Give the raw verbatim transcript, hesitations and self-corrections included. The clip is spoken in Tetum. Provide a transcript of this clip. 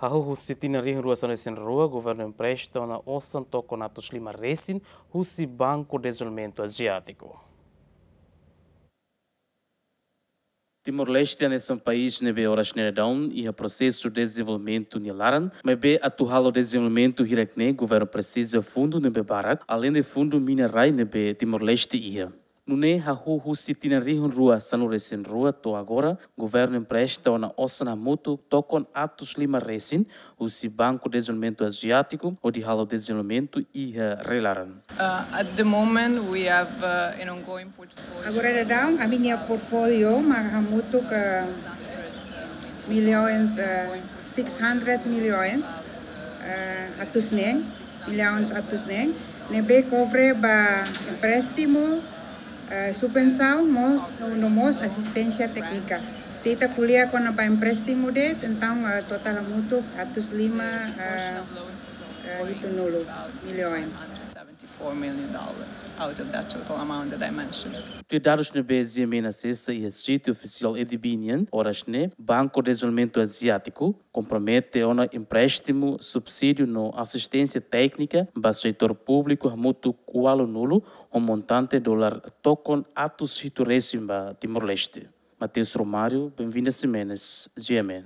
Hahú husi tinan rihun rua sanulu-resin-rua, governu empresta ona osan tokon atus lima resin husi Banku Dezenvolvimentu Aziátiku. Timor-Leste hanesan país ne'ebé oras ne'e daudaun iha prosesu dezenvolvimentu nia laran, maibé atu halo dezenvolvimentu hirak-ne'e governu presiza fundu ne'ebé barak, aleinde fundu mina-rai ne'ebé Timor-Leste iha. Nune'e hahú husi tinan rihun rua sanulu-resin-rua to'o agora, governu empresta ona osan hamutuk tokon atus lima resin husi Banku Dezenvolvimentu Aziátiku hodi halo dezenvolvimentu iha rai-laran. Uh, at the moment, we have uh, an ongoing portfolio. Agora daudaun, ami-nia portfólio mak hamutuk, uh, milhões, uh, six hundred milhões, uh, atus neen, milhões atus neen, ne'ebé kobre ba empréstimu, eh, subvensaun, mós, no mós asisténsia téknika. Se ita ko'alia kona-ba empréstimu de'it, entaun, eh, totál hamutuk atus lima, eh, eh, hitunulu milhões. Seventy-four million dollars out of that total amount that I mentioned. Tuir dadus ne'ebé GMN asesa iha sítiu ofisiál ADB nian, oras ne'e, Banku Dezenvolvimentu Aziátiku kompromete ona empréstimu, subsídiu no asisténsia téknika ba setór públiku hamutuk ualunulu, ho montante dolar tokon atus hitu resin ba Timor-Leste. Mateus Romário, Benvinda Ximenes, GMN.